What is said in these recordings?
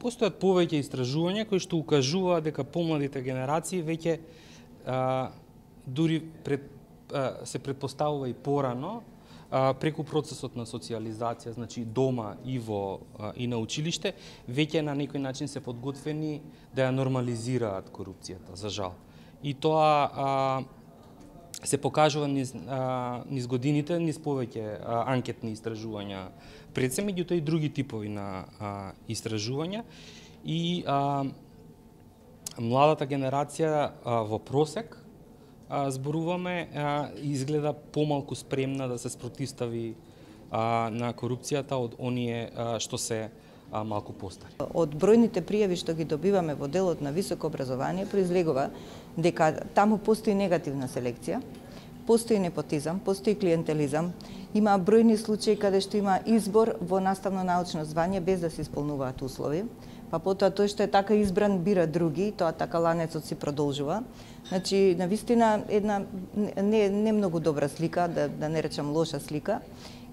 Постојат повеќе истражувања кои што укажуваат дека помладите генерации веќе дури се претпоставува и порано преку процесот на социјализација, значи дома и на училиште, веќе на некој начин се подготвени да ја нормализираат корупцијата, за жал. И тоа се покажува низ годините, низ повеќе анкетни истражувања пред се, меѓутоа и други типови на истражувања. И младата генерација во просек зборуваме, изгледа помалку спремна да се спротивстави на корупцијата од оние што се малку постари. Од бројните пријави што ги добиваме во делот на високо образование произлегува дека таму постои негативна селекција, постои непотизам, постои клиентелизам, има бројни случаи каде што има избор во наставно-научно звање без да се исполнуваат услови, па потоа тој што е така избран бира други, тоа така ланецот си продолжува. Значи, навистина една не многу добра слика, да не речам лоша слика.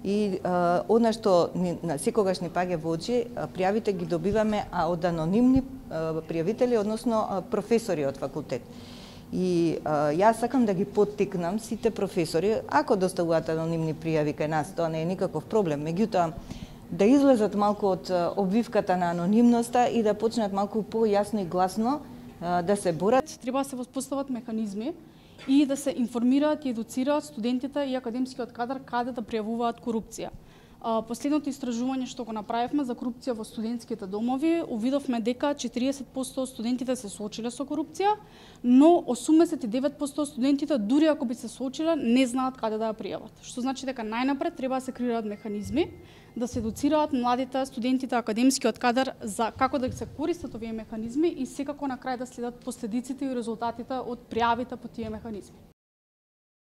И она што секогаш ни паѓа во очи, пријавите ги добиваме од анонимни пријавители, односно професори од факултет. И јас сакам да ги поттикнам сите професори, ако доставуваат анонимни пријави кај нас, тоа не е никаков проблем, меѓутоа да излезат малку од обвивката на анонимноста и да почнат малку појасно и гласно да се борат. Треба да се воспостават механизми и да се информираат и едуцираат студентите и академскиот кадар каде да пријавуваат корупција. Последното истражување што го направивме за корупција во студентските домови, увидовме дека 40% од студентите се соочиле со корупција, но 89% од студентите, дури ако би се соочиле, не знаат каде да ја пријават. Што значи дека најнапред треба да се креираат механизми, да се едуцираат младите, студентите, академскиот кадар за како да се користат овие механизми и секако на крај да следат последиците и резултатите од пријавите по тие механизми.